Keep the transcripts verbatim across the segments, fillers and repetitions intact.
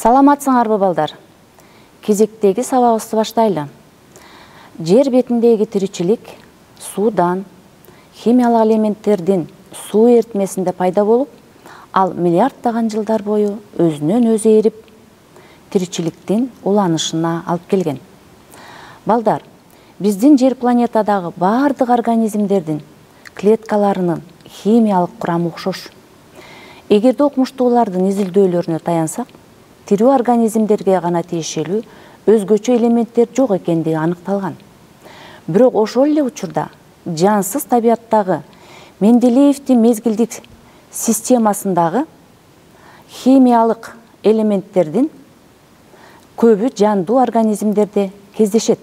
Саламатсыңарбы балдар? Кезектеги сабагыбызды баштайлы. Жер бетиндеги тиричилик суудан, химиялык элементтердин суу эритмесинде пайда болуп, ал миллиарддаган жылдар бою өзүнөн өзү эрип, тиричиликтин уланышына алып келген. Балдар, биздин жер планетадагы бардык организмдердин клеткаларынын химиялык курамы окшош. Эгерде окумуштуулардын изилдөөлөрүнө таянсак, тирүү организмдерге гана тиешелүү өзгөчө элементтер жок экендиги аныкталган. Бирок ошол эле учурда жансыз табияттагы Менделеевдин мезгилдик системасындагы химиялык элементтердин көбү жандуу организмдерде кездешет.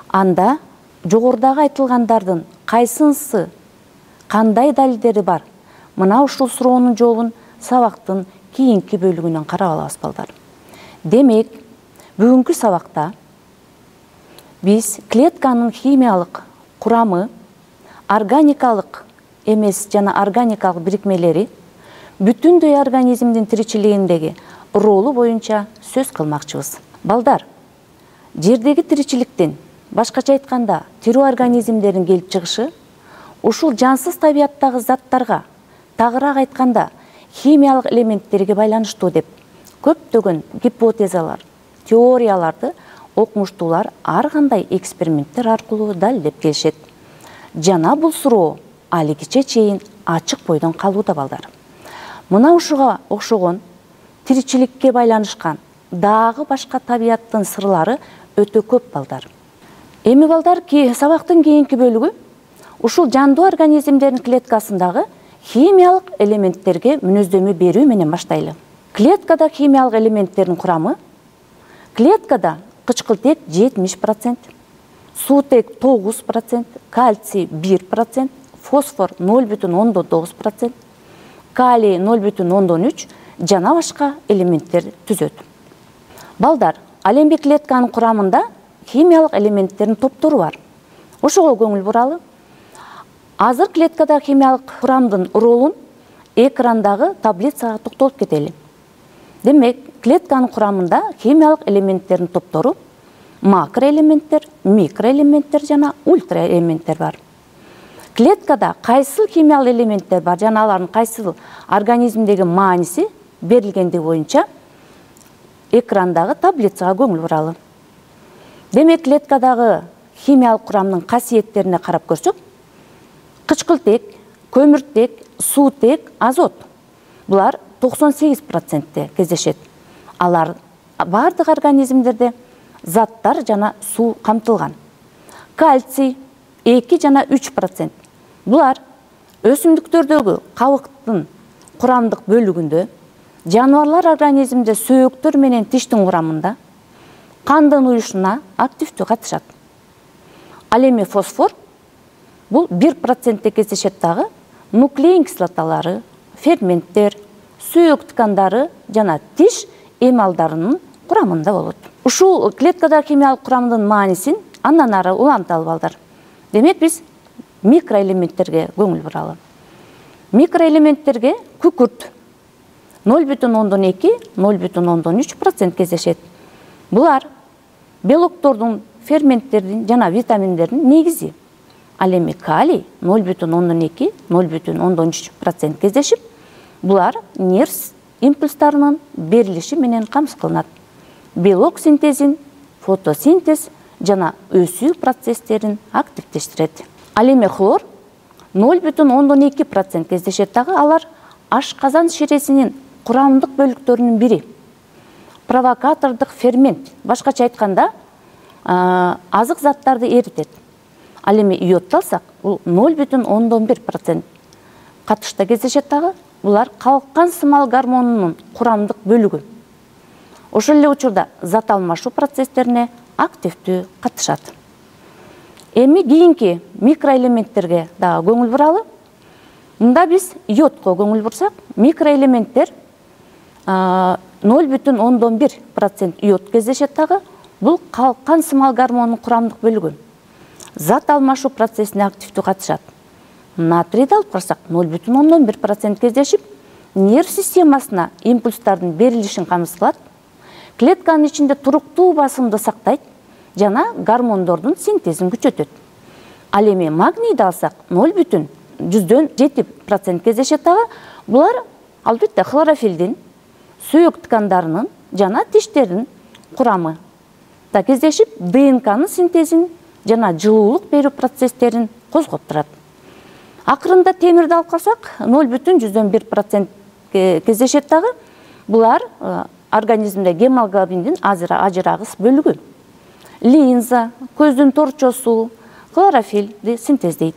Анда жогорудагы айтылгандардын кайсынысы кандай далилдери бар? Мына ушул суроонун жообун сабактын кийинки бөлүгүнөн карап алабыз балдар. Демек, бүгүнкү сабакта биз клетканын химиялык курамы, органикалык эмес жана органикалык бирикмелери, бүтүндөй организмдин тиричилигиндеги ролу боюнча сөз кылмакчыбыз. Балдар, жердеги тиричиликтин, башкача айтканда, тирүү организмдердин келип чыгышы ушул жансыз табияттагы заттарга, тагыраак айтканда, химиялык элементтерге байланыштуу деп көптөгөн гипотезалар, теорияларды окумуштуулар ар кандай эксперименттер аркылуу далилдеп келишет. Жана бул суроо алигиче чейин ачык бойдон калууда балдар. Мына ушуга окшогон тиричиликке байланышкан дагы башка табияттын сырлары өтө көп балдар. Эми балдар, ки сабактын кийинки бөлүгү ушул жандуу организмдердин клеткасындагы химиялык элементтерге мүнөздөмө берүү менен баштайлы. Клеткада химиялык элементтердин курамы: клеткада кычкылтек жетимиш процент, суутек тогуз процент, кальций бир процент, фосфор ноль бүтүн ондон тогуз процент, калий ноль бүтүн ондон үч жана башка элементтер түзөт. Балдар, ал эми клетканын курамында химиялык элементтердин топтору бар. Ошого көңүл буралы. Азыр клеткада химиялык курамдын ролун экрандагы таблицага токтолуп кетели. Демек, клетканын курамында химиялык элементтердин топтору макроэлементтер, микроэлементтер жана ультраэлементтер бар. Клеткада кайсыл химиялык элементтер бар жана алардын кайсыл организмдеги мааниси берилгендиги боюнча экрандагы таблицага көңүл буралы. Демек, клеткадагы химиялык курамдын касиеттерине карап көрсөк, кычкылтек, көмүртек, суутек, азот. Булар токсон сегиз процентте кездешет. Алар бардык организмдерде заттар жана суу камтылган. Кальций эки жана үч процент. Булар өсүмдүктөрдөгү кабыктын курамдык бөлүгүндө, жаныбарлар организмде сөөктөр менен тиштин курамында, кандын уюшуна активдүү катышат. Ал эми фосфор бул бир процентте кездешет дагы, нуклеин кислоталары, ферменттер, сөөк ткандары жана тиш эмалдарынын курамында болот. Ушул клеткада химиялык курамдын маанисин андан ары уланталы балдар. Демек, биз микроэлементтерге көңүл буралы. Микроэлементтерге күкүрт ноль бүтүн ондон эки — ноль бүтүн ондон үч процент кездешет. Булар белоктордун, ферменттердин жана витаминдердин негизи. Ал эми калий ноль бүтүн ондон эки — ноль бүтүн ондон үч процент кездешип, булар нерв импульстарынын берилиши менен камсыз кылынат. Белок синтезин, фотосинтез жана өсүү процесстерин активдештирет. Ал эми хлор ноль бүтүн ондон эки процент кездешет дагы, алар ашказан ширесинин курамдык бөлүктөрүнүн бири. Провокатордук фермент, башкача айтканда, азык заттарды эритет. Ал эми йодду алсак, бул ноль бүтүн ондон бир процент катышта кездешет дагы, булар калкан сымал гормонунун курамдык бөлүгү. Ошол эле учурда зат алмашуу процесстерине активдүү катышат. Эми кийинки микроэлементтерге дагы көңүл буралы. Мында биз йодко көңүл бурсак, микроэлементтер ноль бүтүн ондон бир процент йод кездешет дагы, бул калкан сымал гормонунун курамдык бөлүгү. Зат алмашуу процессине активдүү катышат. Натрийди алып карасак, ноль бүтүн ондон бир процент кездешип, нерв системасына импульстардын берилишин камсыз кылат, клетканын ичинде туруктуу басымды сактайт жана гормондордун синтезин күчөтөт. Ал эми магнийди алсак ноль бүтүн жүздөн жети процент кездешет дагы. Булар албетте хлорофилдин, сүйөк ткандарынын жана тиштердин курамы да кездешип, ДНКнын синтезин жана жылуулук берүү процесстерин козгоп турат. Акырында темирди алып калсак, ноль бүтүн жүздөн бир процент кездешет дагы. Булар организмде гемоглобиндин ажырагыс бөлүгү. Линза, көздүн торчосу, хлорофилди синтездейт.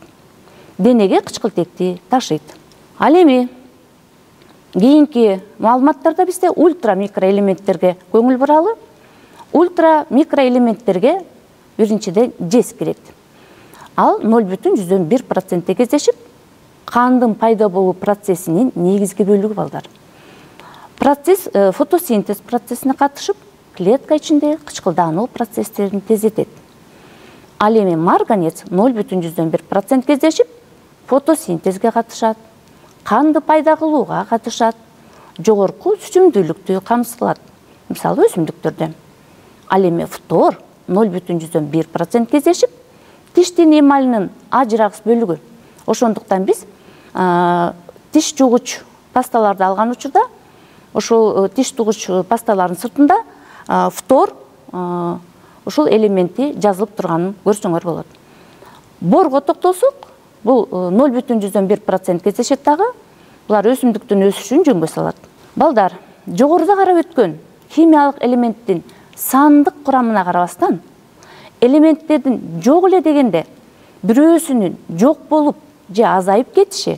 Денеге кычкылтекти ташыйт. Ал эми кийинки маалыматтарда бизде ультра микроэлементтерге көңүл буралы. Ультра микроэлементтерге биринчиден жез кирет. Ал ноль бүтүн жүздөн бир процентте кездешип, кандын пайда болуу процессинин негизги бөлүгү балдар. Процесс фотосинтез процессине катышып, клетка ичинде кычкылдануу процесстерин тездетет. Ал эми марганец ноль бүтүн жүздөн бир процент кездешип, фотосинтезге катышат, канды пайда кылууга катышат, жогорку сүчүмдүүлүктү камсыз кылат, мисалы өсүмдүктөрдө. Ал эми фтор ноль бүтүн жүздөн бир процент кездешип, тиштин эмалинин ажырагыс бөлүгү. Ошондуктан биз тиш жугуч пасталарды алган учурда, ошол тиш жугуч пасталардын сыртында фтор ушул элементи жазылып турганын көрсөңөр болот. Борго токтолсок, бул ноль бүтүн жүздөн бир процент кездешет дагы. Булар өсүмдүктүн өсүшүн жөнгө салат. Балдар, жогоруда карап өткөн химиялык элементтин сандык курамына карабастан, элементтердин жок эле дегенде бирөөсүнүн жок болуп же азайып кетиши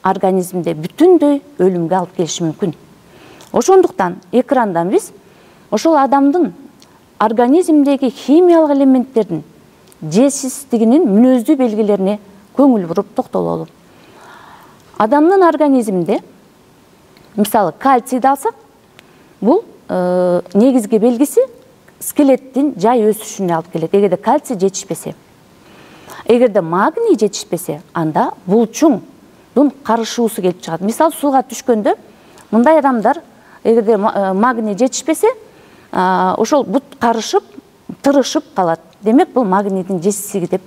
организмде бүтүндөй өлүмгө алып келиши мүмкүн. Ошондуктан экрандан биз ошол адамдын организмдеги химиялык элементтердин жетишсиздигинин мүнөздүү белгилерине көңүл буруп токтололу. Адамдын организминде, мисалы, кальцийди алсак, бул негизги белгиси скелеттин жай өсүшүнө алып келет. Эгерде кальций жетишпесе, эгерде магний жетишпесе, анда булчуңдун карышуусу келип чыгат. Мисалы, сууга түшкөндө мындай адамдар, эгерде магний жетишпесе, ошол бут карышып, тырышып калат. Демек, бул магнийдин жетишсиздиги деп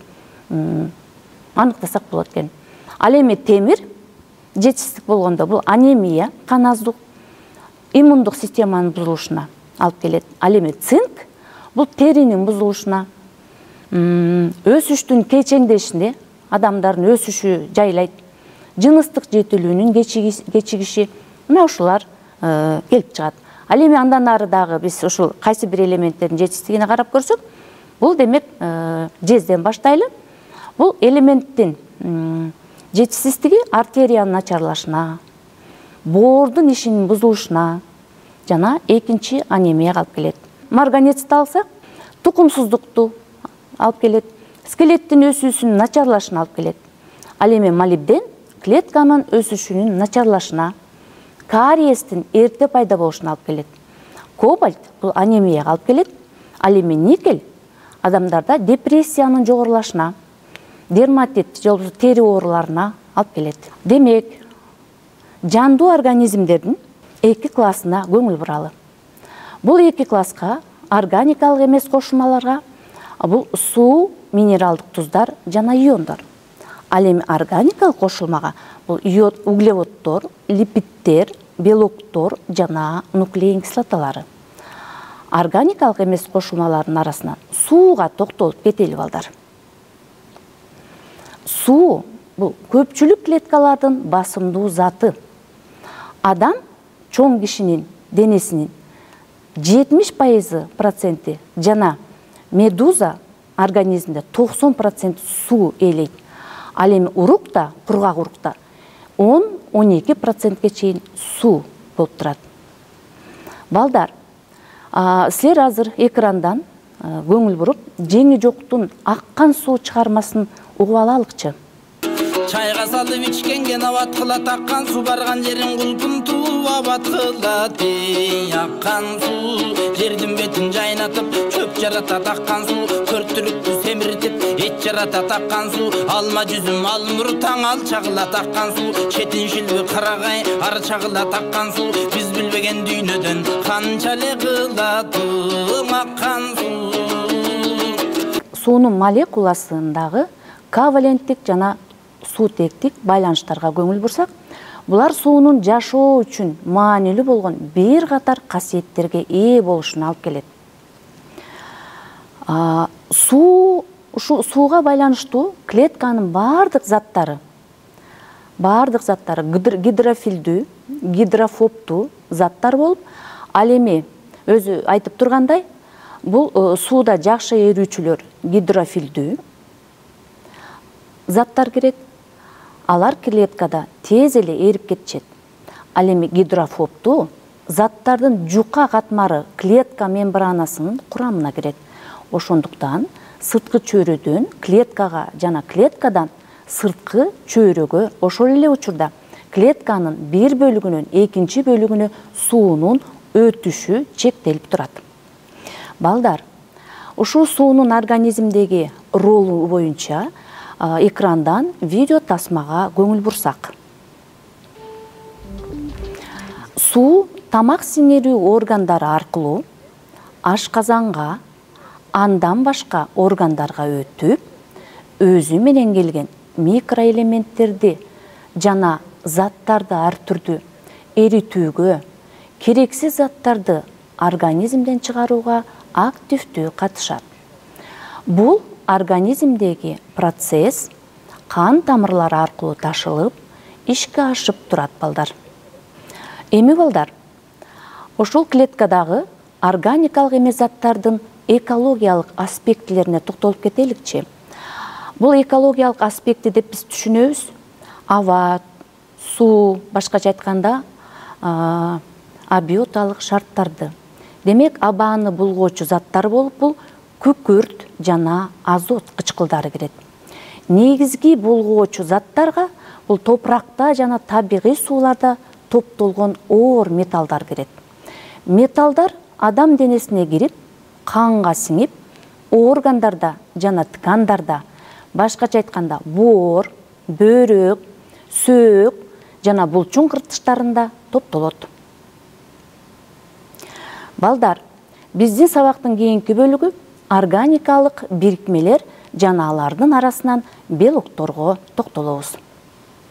аныктасак болот экен. Ал эми темир жетишсиздик болгондо бул анемия, кан аздык, иммундук системанын бузулушуна алып келет. Ал эми цинк бул теринин бузулушуна, өсүштүн кечеңдешине, адамдардын өсүшү жайлайт, жыныстык жетилүүнүн кечигиши, мына ушулар келип чыгат. Ал эми андан ары дагы биз ушул кайсы бир элементтердин жетишсиздигине карап көрсөк, бул демек жезден баштайлы. Бул элементтин жетишсиздиги артериянын начарлашына, боордун ишинин бузулушуна жана экинчи анемияга алып келет. Марганецти алсак, тукумсуздукту алып келет, скелеттин өсүүсүнүн начарлашына алып келет. Ал эми молибден клетканын өсүшүнүн начарлашына, кариестин эрте пайда болушуна алып келет. Кобальт бул анемияга алып келет. Ал эми никель адамдарда депрессиянын жогорулашына, дерматит же болбосо тери ооруларына алып келет. Демек, жандуу организмдердин эки классына көңүл буралы. Бул эки класска органикалык эмес кошулмаларга бул суу, минералдык туздар жана иондор. Ал эми органикалык кошулмага бул йод, углеводдор, липиддер, белоктор жана нуклеин кислоталары. Органикалык эмес кошулмалардын арасынан сууга токтолуп кетели балдар. Суу бул көпчүлүк клеткалардын басымдуу заты. Адам чоң кишинин денесинин жетимиш пайызы проценти жана медуза организмде токсон процент суу ээлейт. Ал эми урукта, кургак урукта он — он эки процентке чейин суу болуп турат. Балдар, силер азыр экрандан көңүл буруп, жеңи жоктун аккан суу чыгармасын угуп алалыкчы. Чайга салып ичкенге абат кылат, аккан суу барган жерин кулпун тууп абат кылат. Аккан суу жердин бетин жайнатып, чөп жаратат. Аккан суу көрт түлүктү темиртип эт жарата таккан суу, алма жүзүм ал нур таң ал чагыла таккан суу, четин шилби карагай ар чагыла таккан суу, биз билбеген дүйнөдөн канча эле кылатым аккан суу. Суунун молекуласындагы коваленттик жана суутектик байланыштарга көңүл бурсак, булар суунун жашоо үчүн маанилүү болгон бир катар касиеттерге ээ болушуна алып келет. Суу ушу сууга байланыштуу клетканын бардык заттары, бардык заттары гидрофилдүү, гидрофобтуу заттар болуп, ал эми өзү айтып тургандай, бул сууда жакшы эрүүчүлөр гидрофилдүү заттар кирет. Алар клеткада тез эле эрип кетишет. Ал эми гидрофобтуу заттардын жука катмары клетка мембранасынын курамына кирет. Ошондуктан сырткы чөйрөдөн клеткага жана клеткадан сырткы чөйрөгө ошол эле учурда клетканын бир бөлүгүнөн экинчи бөлүгүнө суунун өтүшү чектелип турат. Балдар, ушул суунун организмдеги ролу боюнча экрандан видео тасмага көңүл бурсак. Суу тамак сиңирүү органдары аркылуу ашказанга, андан башка органдарга өтүп, өзү менен келген микроэлементтерди жана заттарды ар түрдүү эритүүгө, керексиз заттарды организмден чыгарууга активдүү катышат. Бул организмдеги процесс кан тамырлары аркылуу ташылып, ишке ашып турат, балдар. Эми балдар, ошол клеткадагы органикалык эмес заттардын экологиялык аспектилерине токтолуп кетеликчи. Бул экологиялык аспекти деп биз түшүнөбүз. Аба, суу, башкача айтканда, абиоталык шарттарды. Демек, абаны булгоочу заттар болуп, бул күкүрт жана азот кычкылдары кирет. Негизги булгоочу заттарга бул топуракта жана табигый сууларда топтолгон оор металлдар кирет. Металлдар адам денесине кирип, канга сиңип, органдарда жана ткандарда, башкача айтканда, боор, бөйрөк, сөөк жана булчуң кыртыштарында топтолот. Балдар, биздин сабактын кийинки бөлүгү органикалык бирикмелер жана алардын арасынан белокторго токтолобуз.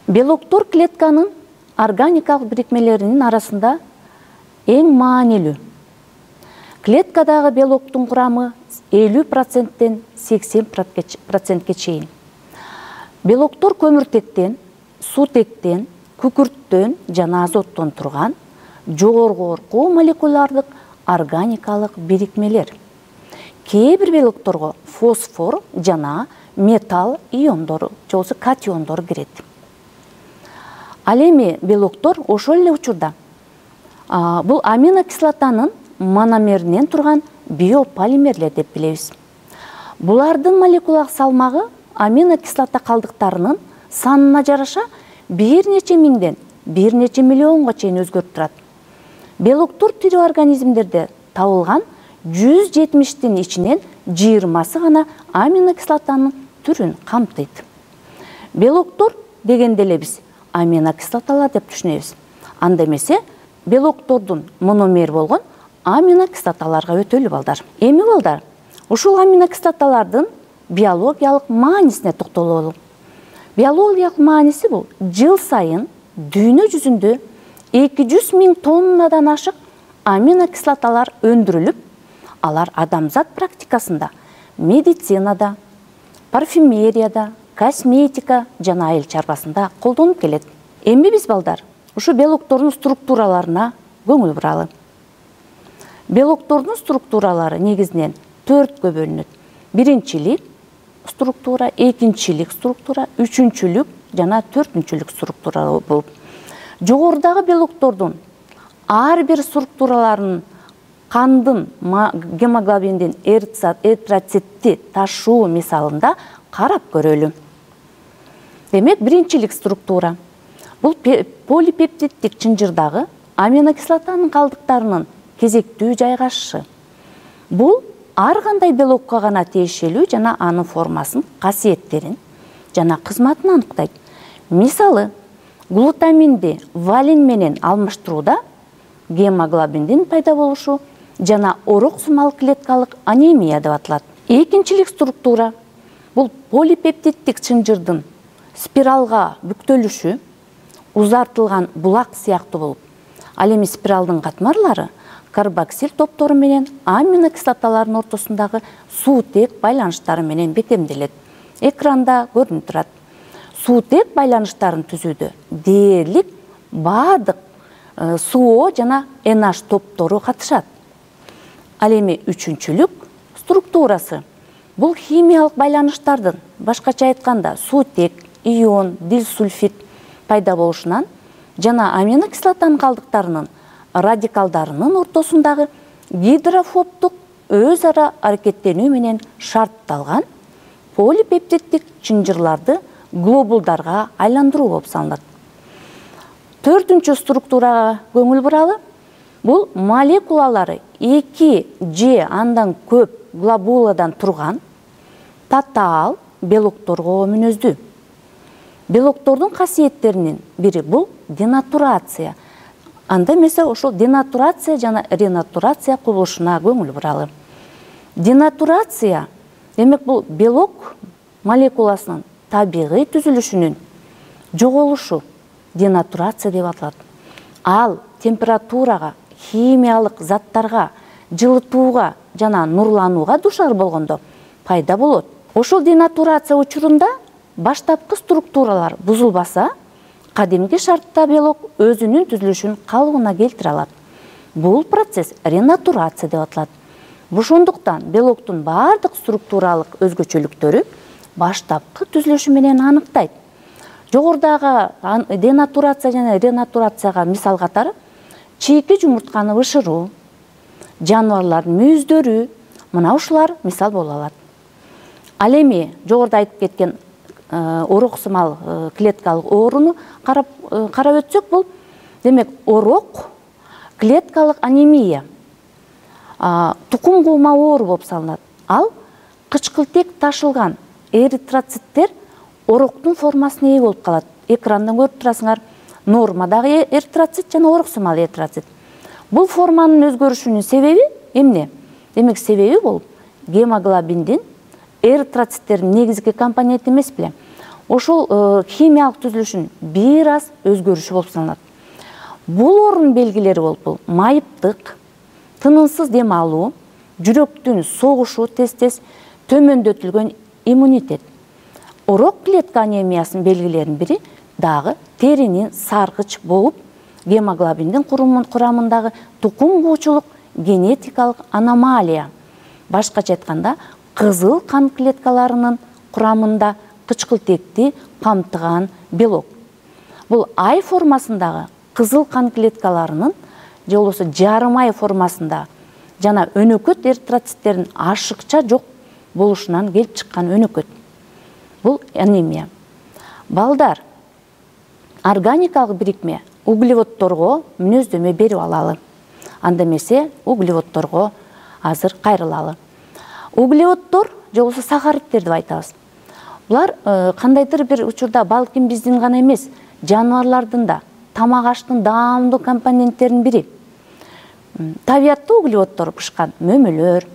Белоктор клетканын органикалык бирикмелеринин арасында эң маанилүү. Клеткадагы белоктун курамы элүү проценттен сексен процентке чейин. Белоктор көмүртектен, суутектен, күкүрттөн жана азоттон турган жогорку молекулярдык органикалык бирикмелер. Кээ бир белокторго фосфор жана металл иондору, же болбосо катиондор кирет. Ал эми белоктор ошол эле учурда бул аминокислотанын мономеринен турган биополимерлер деп билебиз. Булардын молекулалык салмагы аминокислота калдыктарынын санына жараша бир нече миңден бир нече миллионго чейин өзгөрүп турат. Белоктор тирүү организмдерде табылган жүз жетимиштин ичинен жыйырмасы гана аминокислотанын түрүн камтыйт. Белоктор дегенде эле биз аминокислоталар деп түшүнөбүз. Анда эмесе белоктордун мономер болгон аминокислоталарга өтөлү, балдар. Эми балдар, ушул аминокислоталардын биологиялык маанисине токтололу. Биологиялык мааниси бул жыл сайын дүйнө жүзүндө эки жүз миң тоннадан ашык аминокислоталар өндүрүлүп, алар адамзат практикасында, медицинада, парфюмерияда, косметика жана айыл чарбасында колдонуп келет. Эми биз, балдар, ушу белоктордун структураларына көңүл буралы. Белоктордун структуралары негизинен төрткө бөлүнөт. Биринчилик структура, экинчилик структура, үчүнчүлүк жана төртүнчүлүк структура болуп. Жогорудагы белоктордун ар бир структураларынын кандын гемоглобиндин эритроцитти ташуу мисалында карап көрөлү. Демек, биринчилик структура бул полипептиддик чынжырдагы аминокислотанын калдыктарынын кезектүү жайгашышы. Бул ар кандай белокко гана тиешелүү жана анын формасын, касиеттерин жана кызматын аныктайт. Мисалы, глутаминди валин менен алмаштырууда гемоглобиндин пайда болушу жана орок-сумал клеткалык анемия деп аталат. Экинчилик структура бул полипептиддик чынжырдын спиралга бүктөлүшү узартылган булак сыяктуу болуп, ал эми спиралдын катмарлары карбоксил топтору менен аминокислоталардын ортосундагы суутек байланыштары менен бекемделет. Экранда көрүнүп турат. Суутек байланыштарын түзүүдө дээрлик баардык СО жана НH топтору катышат. Ал эми үчүнчүлүк структурасы бул химиялык байланыштардын, башкача айтканда, суутек, ион, дилсульфид пайда болушунан жана аминокислотанын калдыктарынын радикалдарынын ортосундагы гидрофобдук өз ара аракеттенүү менен шартталган полипептиддик чынжырларды глобулдарга айландыруу болуп саналат. Төртүнчү структурага көңүл буралы. Бул молекулалары эки же андан көп глобуладан турган татаал белокторго мүнөздүү. Белоктордун касиеттеринин бири бул денатурация. Анда эмесе ошол денатурация жана ренатурация кубулушуна көңүл буралы. Денатурация демек бул белок молекуласынын табигый түзүлүшүнүн жоголушу денатурация деп аталат. Ал температурага, химиялык заттарга, жылытууга жана нурланууга душар болгондо пайда болот. Ошол денатурация учурунда баштапкы структуралар бузулбаса, кадимки шартта белок өзүнүн түзүлүшүн калыбына келтире алат. Бул процесс ренатурация деп аталат. Ошондуктан белоктун баардык структуралык өзгөчөлүктөрү баштапкы түзүлүшү менен аныктайт. Жогорудагы денатурация жана ренатурацияга мисал катары чийки жумуртканы бышыруу, жаныбарлардын мүйүздөрү, мына ушулар мисал боло алат. Ал эми жогоруда айтып кеткен орок-сумал клеткалык ооруну карап карап өтсөк, бул демек орок клеткалык анемия, тукум куума оору болуп саналат. Ал кычкылтек ташылган эритроциттер ороктун формасына ээ болуп калат. Экрандан көрүп турасыңар, нормадагы эритроцит жана орок-сумал эритроцит. Бул форманын өзгөрүшүнүн себеби эмне? Демек себеби бул гемоглобиндин эритроциттердин негизги компоненти эмес беле? Ошол химиялык түзүлүшүн бир аз өзгөрүшү болуп саналат. Бул оорунун белгилери болуп бул майыптык, тынымсыз дем алуу, жүрөктүн согушу тез-тез, төмөндөтүлгөн иммунитет. Орок клетка анемиясынын белгилеринин бири дагы теринин саргыч болуп, гемоглобиндин курамындагы тукум куучулук генетикалык аномалия. Башкача айтканда, кызыл кан клеткаларынын курамында кычкылтекти камтыган белок. Бул ай формасындагы кызыл кан клеткаларынын же болбосо жарым ай формасында жана өнөкөт эритроциттердин ашыкча жок болушунан келип чыккан өнөкөт. Бул анемия. Балдар, органикалык бирикме углеводдорго мүнөздөмө берип алалы. Анда эмесе углеводдорго азыр кайрылалы. Углеводдор же болбосо сахаридтер деп айтабыз. Булар кандайдыр бир учурда балким биздин гана эмес, жаныбарлардын да тамак аштын даамдуу компоненттеринин бири. Табиятта углеводдор бышкан мөмөлөр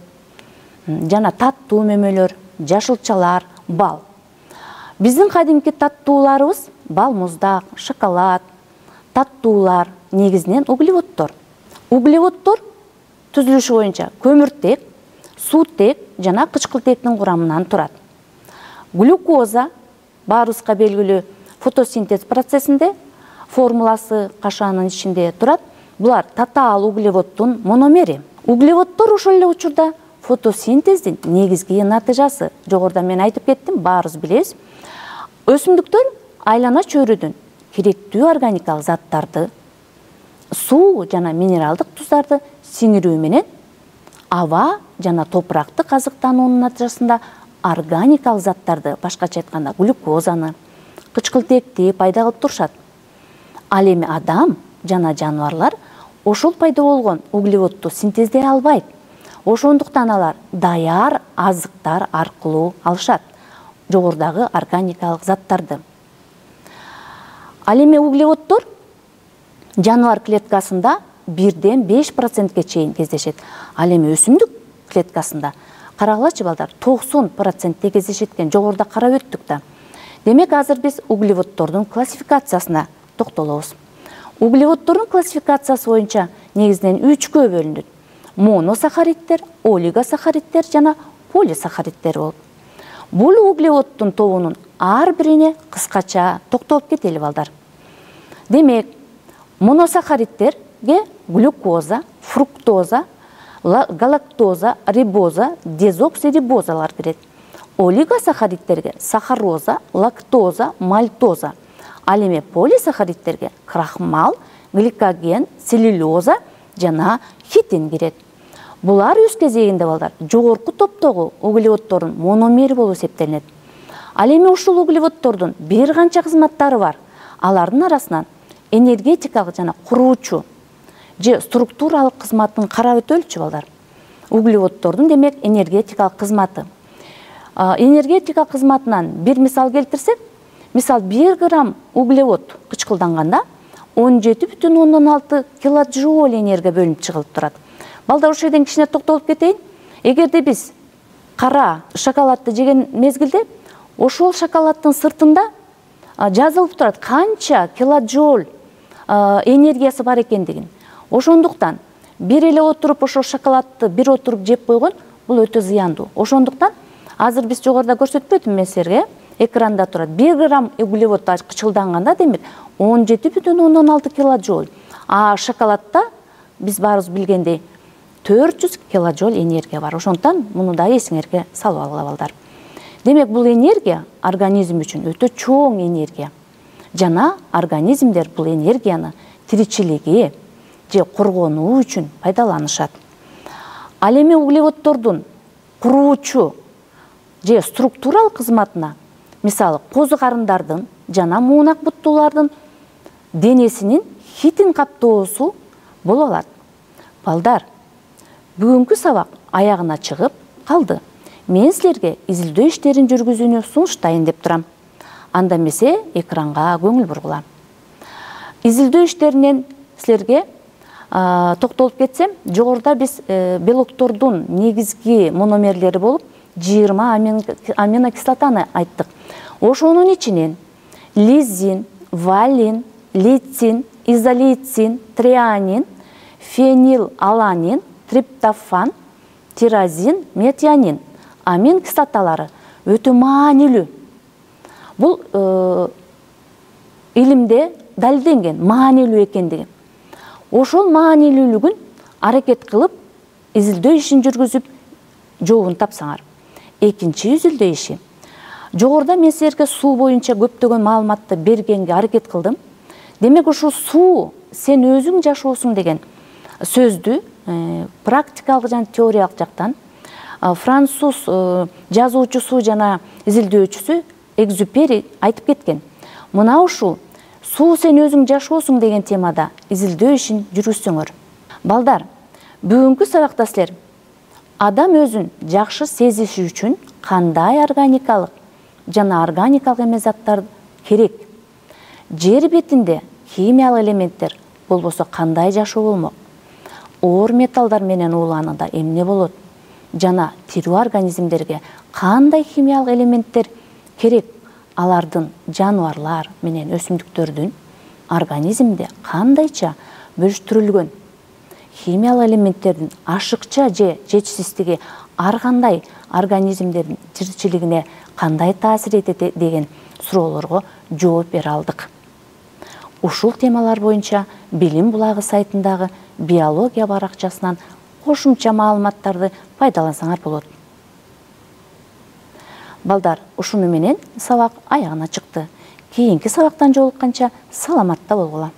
жана таттуу мөмөлөр, жашылчалар, бал. Биздин кадимки таттууларыбыз бал, муздак, шоколад, таттуулар негизинен углеводдор. Углеводдор түзүлүшү боюнча көмүртек, суутек жана кычкылтектин курамынан турат. Глюкоза баарыбызга белгилүү фотосинтез процессинде формуласы кашаанын ичинде турат. Булар татаал углеводдун мономери. Углеводдор ошол эле учурда фотосинтездин негизги натыйжасы. Жогоруда мен айтып кеттим, баарыбыз билебиз. Өсүмдүктөр айлана чөйрөдөн керектүү органикалык заттарды, суу жана минералдык туздарды сиңирүү менен аба жана топуракты казыктануунун натыйжасында органикалык заттарды, башкача айтканда глюкозаны, кычкылтекти пайда кылып турушат. Ал эми адам жана жаныбарлар ошол пайда болгон углеводду синтездей албайт. Ошондуктан алар даяр азыктар аркылуу алышат жогорудагы органикалык заттарды. Ал эми углеводдор жаныбар клеткасында бирден беш процентке чейин кездешет. Ал эми өсүмдүк клеткасында карагылачы балдар, токсон процентте кездешет экен, жогоруда карап өттүк да. Демек, азыр биз углеводдордун классификациясына токтолобуз. Углеводдордун классификациясы боюнча негизинен үчкө бөлүнөт. Моносахаридтер, олигосахаридтер жана полисахаридтер болуп. Бул углеводдун тобунун ар бирине кыскача токтолуп кетели балдар. Демек, моносахаридтерге глюкоза, фруктоза, галактоза, рибоза, дезоксирибозалар кирет. Олигосахаридтерге сахароза, лактоза, мальтоза. Ал эми полисахаридтерге крахмал, гликоген, целлюлоза жана хитин кирет. Булар өз кезегинде балдар жогорку топтогу углеводдордун мономери болуп эсептелинет. Ал эми ушул углеводдордун бир канча кызматтары бар. Алардын арасынан энергетикалык жана куруучу же структуралык кызматын карап өтөлчү балдар. Углеводдордун демек энергетикалык кызматы. Энергетика кызматынан бир мисал келтирсек, мисал бир грамм углевод кычкылданганда он жети бүтүн ондон алты килоджоуль энергия бөлүнүп чыгылып турат. Балдар, ошол жерден кичине токтолуп кетейин. Эгерде биз кара шоколадты жеген мезгилде, ошол шоколаддын сыртында жазылып турат канча килоджоуль энергиясы бар экендигин. Ошондуктан бир эле отуруп ошол шоколадты бир отуруп жеп койгон бул өтө зыяндуу. Ошондуктан азыр биз жогоруда көрсөтпөдүм мен силерге, экранда турат. бир грамм углевод кычкылданганда демек он жети бүтүн ондон алты килоджоуль. А шоколадта биз баарыбыз билгендей төрт жүз килоджоуль энергия бар. Ошондуктан муну да эсиңерге салып алгыла балдар. Демек, бул энергия организм үчүн өтө чоң энергия. Жана организмдер бул энергияны тиричилиги же коргонуу үчүн пайдаланышат. Ал эми углеводдордун куруучу же структуралык кызматына, мисалы, козу карындардын жана муунак буттуулардын денесинин хитин каптоосу боло алат. Балдар, бүгүнкү сабак аягына чыгып калды. Мен силерге изилдөө иштерин жүргүзүүнү сунуштайын деп турам. Анда эмесе экранга көңүл бургула. Изилдөө иштеринен силерге токтолуп кетсем, жогоруда биз белоктордун негизги мономерлери болуп жыйырма аминокислотаны айттык. Ошонун ичинен лизин, валин, лейцин, изолейцин, трианин, фенилаланин, триптофан, тирозин, метионин амин кислоталары өтө маанилүү. Бул илимде далилденген маанилүү экендиги. Ошол маанилүүлүгүн аракет кылып, изилдөө ишин жүргүзүп, жообун тапсаңар. Экинчи изилдөө иши. Жогоруда мен силерге суу боюнча көптөгөн маалыматты бергенге аракет кылдым. Демек, ушул суу сен өзүң жашоосуң деген сөздү практикалык жана теориялык жактан француз жазуучусу жана изилдөөчүсү Экзюпери айтып кеткен. Мына ушул суу сен өзүң жашоосуң деген темада изилдөө ишин жүргүзсөңөр. Балдар, бүгүнкү сабакта силер адам өзүн жакшы сезиши үчүн кандай органикалык жана органикалык эмес заттар керек? Жер бетинде химиялык элементтер болбосо кандай жашоо болмок? Оор металлдар менен ууланууда эмне болот? Жана тирүү организмдерге кандай химиялык элементтер керек? Алардын жаныбарлар менен өсүмдүктөрдүн организмде кандайча бөлүштүрүлгөн? Химиялык элементтердин ашыкча же жетишсиздиги ар кандай организмдердин тиричилигине кандай таасир этет деген суроолорго жооп бере алдык. Ушул темалар боюнча Билим булагы сайтындагы биология баракчасынан кошумча маалыматтарды пайдалансаңар болот. Балдар, ушуну менен сабак аягына чыкты. Кийинки сабактан жолукканча саламатта болгула.